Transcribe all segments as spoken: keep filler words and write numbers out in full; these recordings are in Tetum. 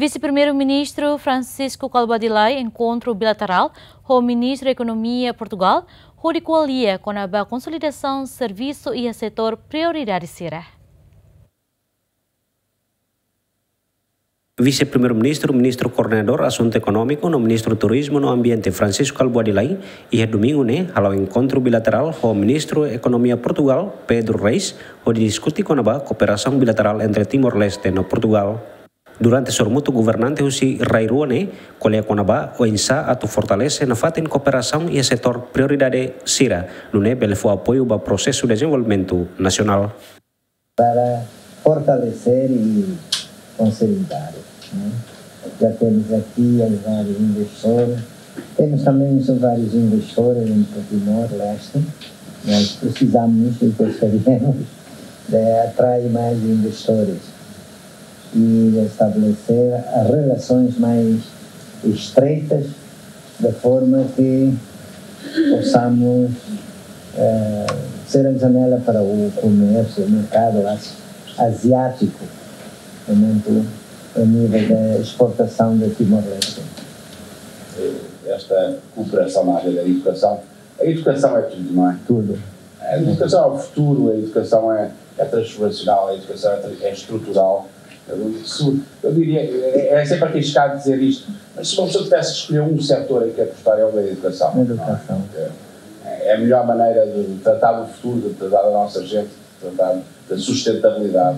Vise-Primeiru-Ministru Francisco Kalbuadi Lay enkontru bilaterál ho Ministru Ekonomia Portugál, hodi ko'alia kona-ba konsolidasaun servisu iha setór prioridade sira. Vise-Primeiru-Ministru, Ministru Koordenadór Asuntu Ekonómiku no Ministru Turizmu no Ambiente Francisco Kalbuadi Lay, iha domingu ne'e, hala'o enkontru bilaterál ho Ministru Ekonomia Portugál, Pedro Reis, hodi diskuti kona-ba kooperasaun bilaterál entre Timor-Leste no Portugál. Durante sorumutu governante husi rai rua ne'e ko'alia kona-ba oinsá atu fortalese nafatin kooperasaun iha setór prioridade sira, nune'e bele fó apoiu ba prosesu dezenvolvimentu nasionál. Para fortalecer e consolidar, né? Já temos aqui vários investidores, temos também vários investidores em Timor-Leste, nós precisamos e gostaríamos de atrair mais investidores e estabelecer relações mais estreitas, de forma que possamos eh, ser a janela para o comércio, o mercado asi-, asiático, portanto, a nível da exportação de Timor-Leste. Esta cooperação na área da educação. A educação é tudo, não é? Tudo. A educação é o futuro, a educação é, é transformacional, a educação é, tra- é estrutural. Eu, isso, eu diria, é, é sempre arriscado dizer isto, mas se uma pessoa tivesse que escolher um setor em que apostar, é o da educação. Educação. É, é a melhor maneira de tratar do futuro, de tratar da nossa gente, de tratar da sustentabilidade.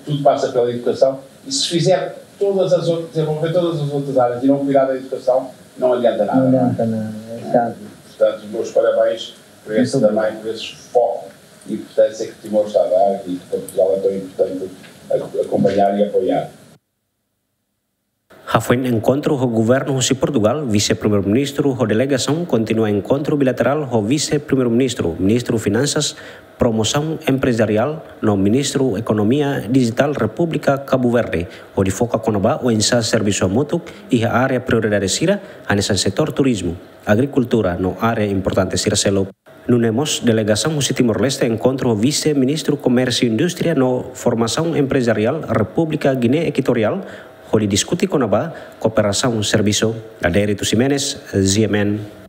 Tudo passa pela educação e se fizer todas as outras, desenvolver todas as outras áreas e não cuidar da educação, não adianta nada. Não adianta nada, é chato. Portanto, meus parabéns por esse também, por esse foco e importância que Timor está a dar e que Portugal é tão importante acompanhar e apoiar. Hafoin enkontru ho governu husi Portugál, Vise-Primeiru-Ministru ho delegasaun kontinua enkontru bilaterál ho Vise-Primeiru-Ministru, Ministru Finansas, Promosaun Emprezariál no Ministru Ekonomia Dijitál Repúblika Kabu Verde, hodi foka kona-ba oinsá servisu hamutuk iha área prioridade sira, hanesan setór turizmu, agrikultura no área importante sira seluk. Nune'e mós delegasaun husi Timor-Leste enkontru ho Vise-Ministru Komérsiu Indústria no Formasaun Emprezariál Repúblika Guiné Ekuatoriál, hodi diskuti kona-ba kooperasaun servisu. Adérito Ximenes, G M N.